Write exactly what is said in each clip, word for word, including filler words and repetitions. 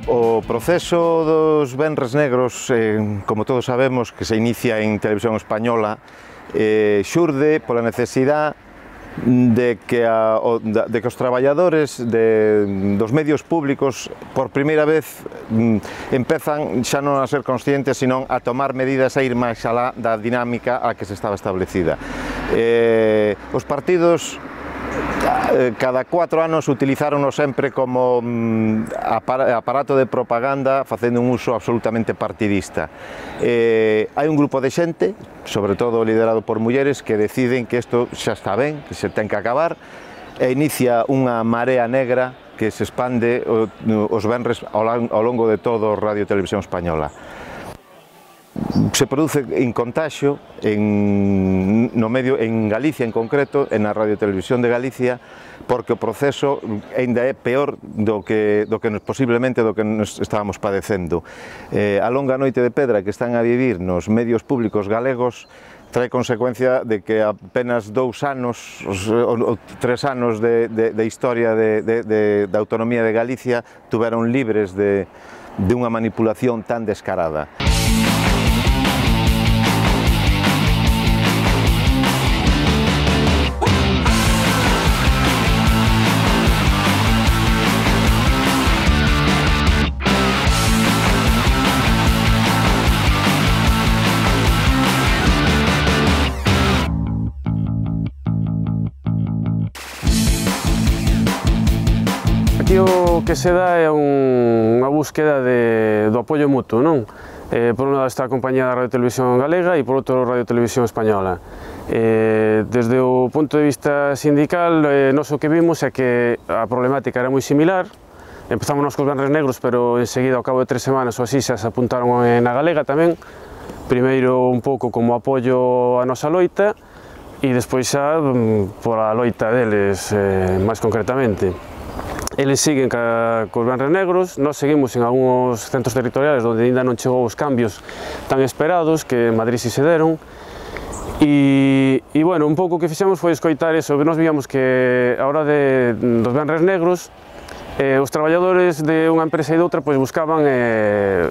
O proceso dos venres negros, eh, como todos sabemos, que se inicia en Televisión Española, eh, xurde pola necesidade de que, a, o, de que os traballadores de, dos medios públicos por primeira vez mm, empezan xa non a ser conscientes, sino a tomar medidas a ir máis alá da dinámica a que se estaba establecida. Eh, os partidos cada cuatro anos utilizárono sempre como aparato de propaganda, facendo un uso absolutamente partidista. Eh, hai un grupo de xente, sobre todo liderado por mulleres, que deciden que isto xa está ben, que se ten que acabar, e inicia unha marea negra que se expande os venres ao longo de todo Radio Televisión Española. Se produce en contaxio en, no medio, en Galicia en concreto, en a Radio Televisión de Galicia, porque o proceso ainda é peor do que, do que posiblemente do que nos estábamos padecendo. Eh, a longa noite de pedra que están a vivir nos medios públicos galegos trae consecuencia de que apenas dous anos, ou tres anos de, de, de historia de, de, de, de autonomía de Galicia tuveron libres de, de unha manipulación tan descarada. Aquí o que se dá é un, unha búsqueda de, do apoio mutuo, non? Eh, por un lado está a compañía da Radio Televisión Galega e por outro Radio Televisión Española. Eh, desde o punto de vista sindical, eh, nos o que vimos é que a problemática era moi similar. Empezamos nos cos venres negros, pero enseguida, ao cabo de tres semanas ou así, xa se apuntaron na Galega tamén. Primeiro un pouco como apoio á nosa loita e despois xa pola loita deles, eh, máis concretamente. Eles siguen ca, cos venres negros, nós seguimos en algúns centros territoriales onde ainda non chegou os cambios tan esperados que en Madrid si se deron. E, e bueno, un pouco o que fixemos foi escoitar eso, que nós víamos que a hora de, dos venres negros eh, os traballadores de unha empresa e de outra pois, buscaban eh,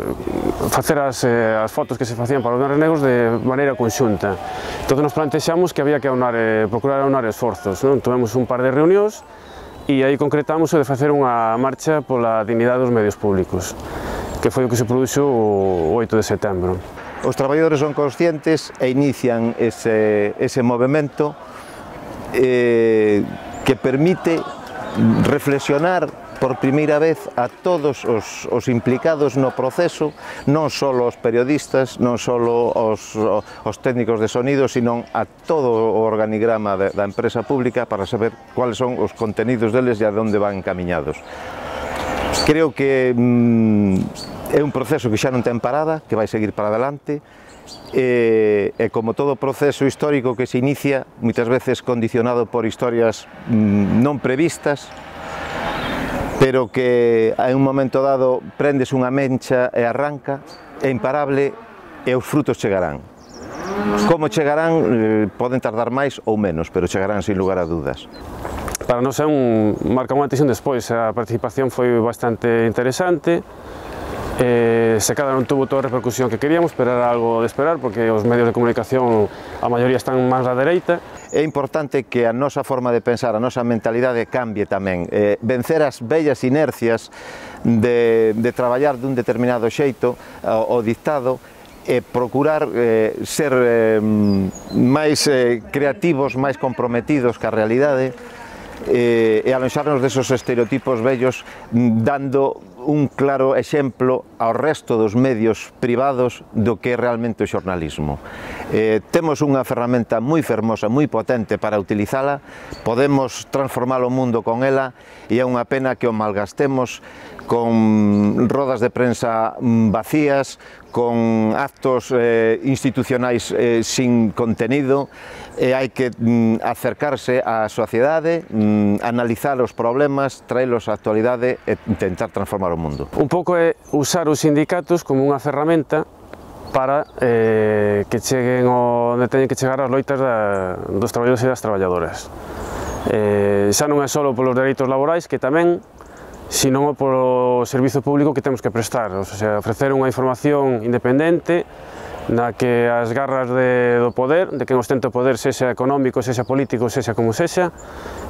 facer as, eh, as fotos que se facían para os venres negros de maneira conxunta. Entón nos plantexamos que había que aunar, eh, procurar aunar esforzos, non? Tivemos un par de reunións e aí concretamos o de facer unha marcha pola dignidade dos medios públicos, que foi o que se produxo o oito de setembro. Os traballadores son conscientes e inician ese, ese movimento eh, que permite reflexionar por primeira vez a todos os, os implicados no proceso, non só os periodistas, non só os, os técnicos de sonido, sino a todo o organigrama de, da empresa pública para saber cuáles son os contenidos deles e a onde van encaminhados. Creo que mm, é un proceso que xa non ten parada, que vai seguir para adelante, e, e como todo proceso histórico que se inicia, moitas veces condicionado por historias mm, non previstas, pero que en un momento dado prendes unha mencha e arranca, é imparable e os frutos chegarán. Como chegarán, eh, poden tardar máis ou menos, pero chegarán sin lugar a dudas. Para nós é un, marca unha antes e un despois, a participación foi bastante interesante, eh, se cada non tuvo toda a repercusión que queríamos, pero era algo de esperar, porque os medios de comunicación, a maioría están máis á dereita. É importante que a nosa forma de pensar, a nosa mentalidade cambie tamén, eh, vencer as vellas inercias de, de traballar dun determinado xeito o, o dictado e procurar eh, ser eh, máis eh, creativos, máis comprometidos ca realidade eh, e alonxarnos desos estereotipos vellos, dando un claro exemplo ao resto dos medios privados do que é realmente o xornalismo. Eh, temos unha ferramenta moi fermosa, moi potente para utilizala, podemos transformar o mundo con ela e é unha pena que o malgastemos con rodas de prensa vacías, con actos eh, institucionais eh, sin contenido, e hai que mm, acercarse á sociedade, mm, analizar os problemas, traelos á actualidade e intentar transformar o mundo. Un pouco é usar os sindicatos como unha ferramenta para eh, que cheguen onde teñen que chegar as loitas da, dos traballadores e das traballadoras. Eh, xa non é só polos dereitos laborais, que tamén, sino polo servizo público que temos que prestar, o sea, ofrecer unha información independente na que as garras de, do poder, de quen ostenta o poder, sexa económico, sexa político, sexa como sexa,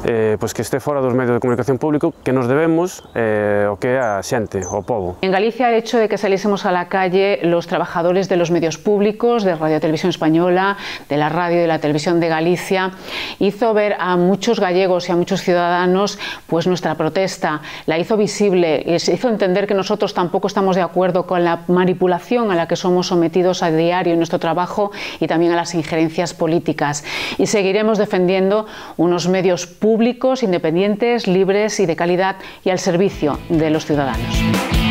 eh, pois que este fora dos medios de comunicación público que nos debemos eh, o que é a xente, o povo. En Galicia, el hecho de que saliésemos a la calle los trabajadores de los medios públicos, de Radio Televisión Española, de la radio y de la televisión de Galicia, hizo ver a muchos gallegos y a muchos ciudadanos pues nuestra protesta, la hizo visible, les hizo entender que nosotros tampoco estamos de acuerdo con la manipulación a la que somos sometidos a diario en nuestro trabajo y también a las injerencias políticas. Y seguiremos defendiendo unos medios públicos, independientes, libres y de calidad y al servicio de los ciudadanos.